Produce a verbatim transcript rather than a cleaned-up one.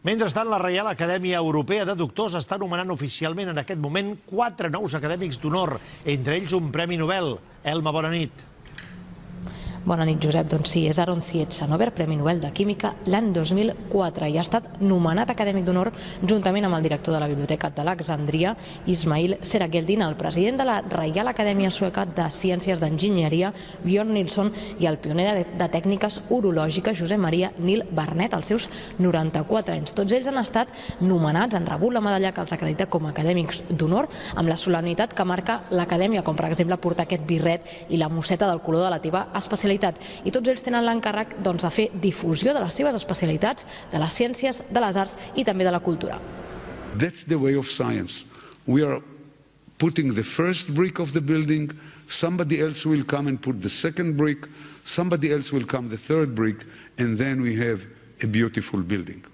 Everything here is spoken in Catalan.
Mentrestant, la Reial Acadèmia Europea de Doctors està nomenant oficialment en aquest moment quatre nous acadèmics d'honor, entre ells un Premi Nobel. Elma, bona nit. Bona nit, Josep. Doncs sí, és Aron Zietzhanovert, Premi Nobel de Química l'any dos mil quatre i ha estat nomenat acadèmic d'honor juntament amb el director de la Biblioteca d'Alexandria, Ismail Serageldin, el president de la Reial Acadèmia Sueca de Ciències d'Enginyeria, Björn Nilsson, i el pioner de, de tècniques urològiques, Josep Maria Nil Barnet, als seus noranta-quatre anys. Tots ells han estat nomenats, han rebut la medalla que els acredita com a acadèmics d'honor, amb la solemnitat que marca l'acadèmia, com per exemple portar aquest birret i la mosseta del color de la teva especialitat. I tots ells tenen l'encàrrec doncs, de fer difusió de les seves especialitats, de les ciències, de les arts i també de la cultura. That's the way of science. We are putting the first brick of the building, somebody else will come and put the second brick, somebody else will come the third brick, and then we have a beautiful building.